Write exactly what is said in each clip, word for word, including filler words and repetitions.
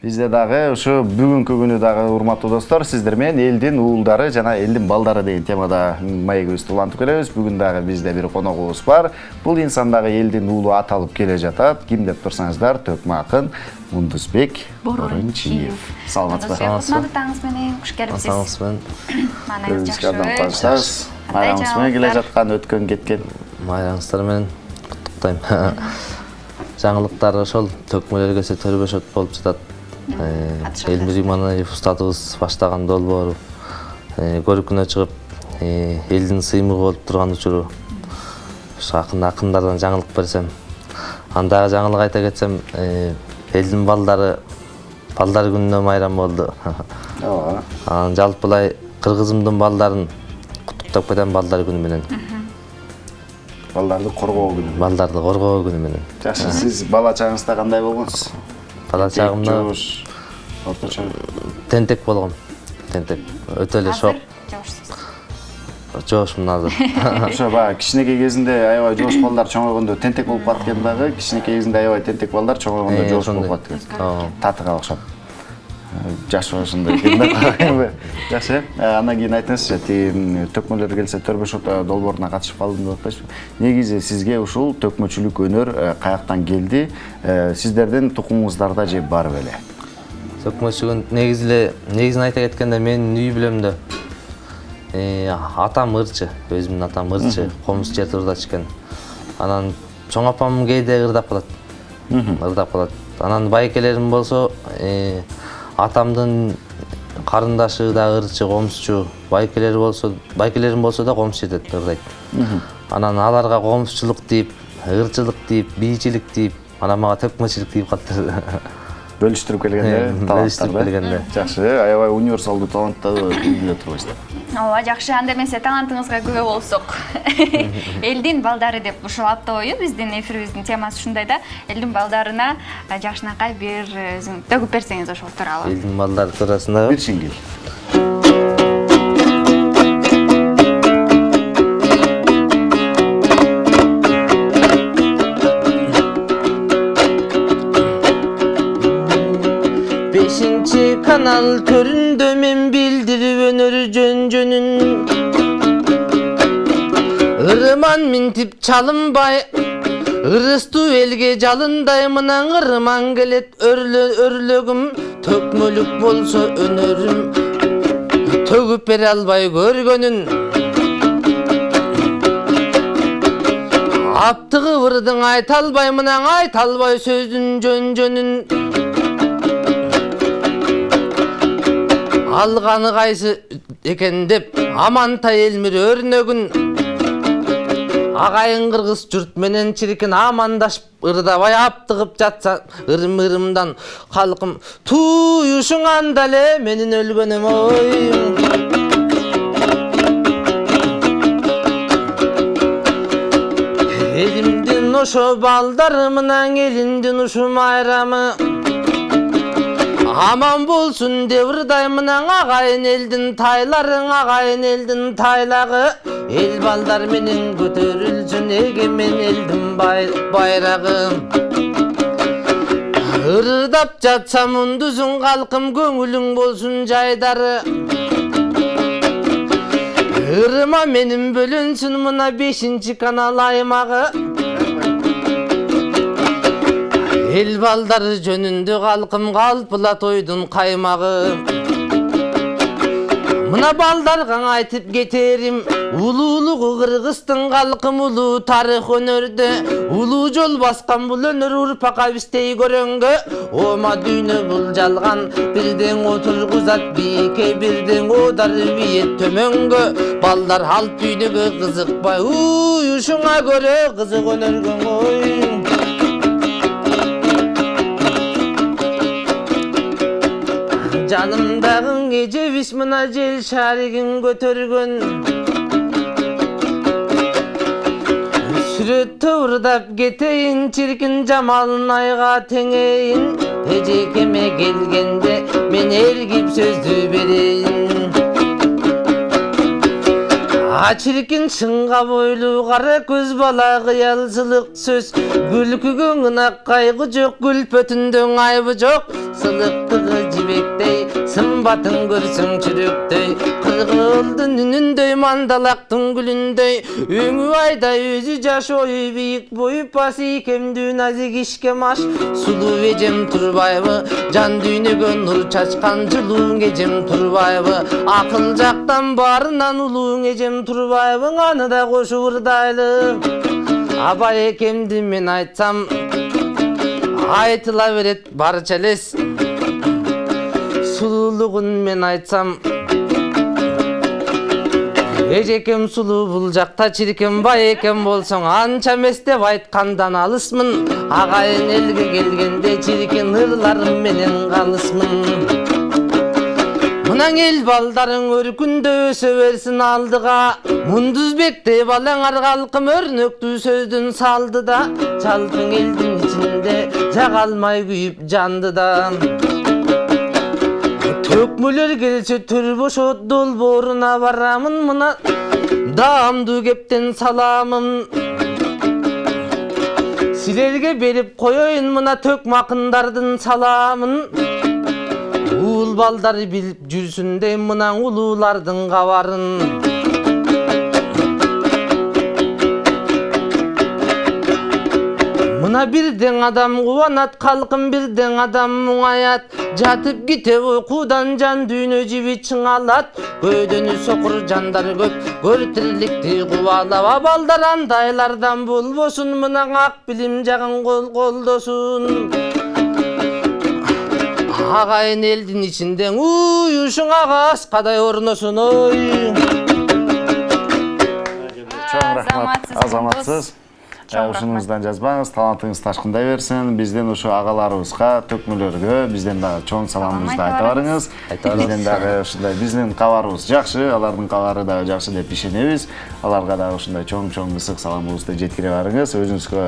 Бизде дагы ушу бүгүнкү күнү дагы урматтуу достор, сиздер менен элдин уулдары жана элдин балдары деген темада маегибизди улантып келебиз. Бүгүн дагы бизде бир коногубуз бар. Бул инсан дагы элдин уулу аталып келе жатат. Ким деп турсаңыздар, төкмө акын Мундузбек Борунчиев. Саламатсызбы? Саламатсызбы? Таңыңыз менен куш келипсиз. Саламатсызбы. Манайыңыз жакшы. Майраңыз менен келе жаткан өткөн кеткен. Майраңыздар менен куттуктайм. Жаңылыктар ошол төкмөлөр келсе төрбөшөт болуп жатат. Элмир Иманаев устатыбыз баштаган долбоору көрүкүнө чыгып, элдин сыймыгы болуп турган учуру акын акындардан жаңылык берсем, андагы жаңылык айта кетсем, элдин балдары балдар күнүнө майрам болду. Ооба. Анан жалпылай кыргызымдын балдарын куттуктап кетем балдар күнү менен. Балдарды коргоо күнү. Балдарды коргоо күнү менен. Жакшы, сиз бала чагыңызда кандай болгонсуз? Бала чагымда орточо тентек болгом. Тентек. Өтө эле шок. Жошмун азыр. Ошо баягы кичинекей кезинде аябай жош балдар чоңойгондо тентек болуп калат экен дагы, кичинекей кезинде аябай тентек балдар чоңойгондо жош болуп калат экен. Татыга окшоп. Жаш ошондой экен да. Жакшы. Андан кийин айтыңызчы, тиги төкмөлөр келсе төрбөшөт долбооруна катышып калдым деп атпайсызбы? Негизи сизге ушул төкмөчүлүк өнөр каяктан келди? Сиздердин тукумуңуздарда же бар беле? Төкмөчүлүк негизи эле негизин айта кеткенде менин үй бүлөмдө атам ырчы, өзүмдүн атам ырчы, комуз жерде ырдачу экен. Анан чоң апам кээде ырдап калат. Ырдап калат. Анан байкелерим болсо, атамдын карындашы да ырчы, комузчу, байкелери болсо, байкелерим болсо да комуз жерде ырдайт. Анан аларга комузчулук дейп, ырчылык дейп, бийчилик дейп, анан мага төкмөчүлүк дейп калды. Бөлүштүрүп келгенде, бөлүштүрүп келгенде. Жакшы, аябай универсалдуу таланттарды биле турбайсыздар. Ооба, жакшы. Анда эмесе талантыңызга күбө болсок. Элдин балдары деп ушул аптабою биздин эфирибиздин темасы ушундай да. Элдин балдарына жакшынакай бир төгүп берсеңиз ошол тууралуу. Элдин балдары туурасында бир сиңгил. бешинчи канал төрүндө мен билдирип өнөр жөн-жөнүн. Ырыман минтип чалынбай, ырыстуу элге жалындай, мына ырыман келет өрлөгүм, төкмөлүк болсо өнөрүм, төгүп бере албай көргөнүн. Аптыгы ырдың айта албай, мына айта албай сөздүн жөн-жөнүн. Алганы кайсы экен деп Амантай Элмир өрнөгүн. Агайын кыргыз журт менен чиркин амандашып ырдабай аптыгып жатса ырым-ырымдан калкым туюшуңанда эле менин өлгөнүм ой. Элимдин ошо балдарымынан элиндин ушу майрамы аман болсун деп ырдаймын, агайын элдин тайларың, агайын элдин тайлагы. Эл балдар менен көтөрүлсүн эгемен элдин байрагы. Ырдап жатсам мундузун калкым, көңүлүң болсун жайдары. Ырыма менин бөлүнсүн мына бешинчи канал аймагы. Эл балдары жөнүндө калкым, калпыла тойдун каймагы. Мына балдарга айтып кетерим, улуулугу Кыргыздын калкым, улуу тарых өнөрдө. Улуу жол баскан бул өнөр урпакка бистей көрөнгө. Ома дүйнө бул жалган, бирден отургузат бийикке, бирден одар биет төмөнгө. Балдар алт дүйнөгө кызыкпай, уюшуңа көрө кызык өнөргөң ой. Жанымдагы эже биш мына жел шаригин көтөргөн. Сүрөттө ырдап кетейин, чиркин жамалын айга теңейин. Эжекеме келгенде мен эргип сөздү берейин. Ачиркин чынга бойлуу кара көз бала кыялчылык сөз. Күлкүгө ынак кайгы жок, күлпөтүндө айбы жок. Сылыктык кымбатын көрсөң чүрөктөй, кыргылдын үнүндөй, мандалактын гүлүндөй, өңү айдай өзү жаш ою бийик бою, пасы икемдүү назик ишке маш. Сулуу эжем Турбаева, жан дүйнөгө нур чачкан жылууң эжем Турбаева, акыл жактан баарынан улууң эжем Турбаева, аны да кошуп ырдайлы. Абай экемди мен айтсам, айтыла берет барча элес. Сулуулугун мен айтсам, эжекем сулуу бул жакта чиркем, бай экен болсоң анча эмес деп айткандан алысмын. Агайын элге келгенде чиркен ырларым менен калысмын. Мунаң эл балдарың өркүндө өсө берсин алдыга, Мундузбекте балаңар калкым өрнөктүү сөздүн салды да, жалпың элдин ичинде жага алмай күйүп жанды да. Төкмөлөр келсе төр бошот долбооруна барамын, мына даамдуу кептен саламын. Силерге берип коеюн мына төкмакындардын саламын. Уул балдар билип жүрсүндөй мына улуулардын кабарын. Мына бирден адам кубанат, калкым бирден адам муңаят. Жатып кетип уйкудан жан дүйнө жиби чыңалат. Көөдөнү сокур жандар көп, көр тирликти кубалап. Абалдар андайлардан болбосун, мына ак билим жагын кол колдосун. Агайын элдин ичинде уюшуңага аскадай орносун, ой. Чоң рахмат, азаматсыз. Ушунуңуздан жазбаңыз, талантыңыз ташкындай берсин. Бизден ушу агаларыбызга, төкмөлөргө бизден дагы чоң саламыбызды айта барыңыз. Бизден дагы ушундай биздин кабарыбыз жакшы, алардын кабары дагы жакшы деп ишенебиз. Аларга дагы ушундай чоң-чоң ысык саламыбызды жеткире барыңыз. Өзүңүзгө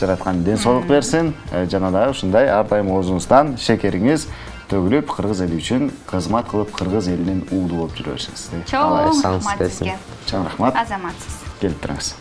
жараткан ден соолук берсин. Жана дагы ушундай ар дайым оозуңуздан шекериңиз төгүлүп, кыргыз эли үчүн кызмат кылып, кыргыз элинин уулу болуп жүрө берсиңиз. Чоң рахмат сизге. Чоң рахмат. Азаматсыз. Келип туруңуз.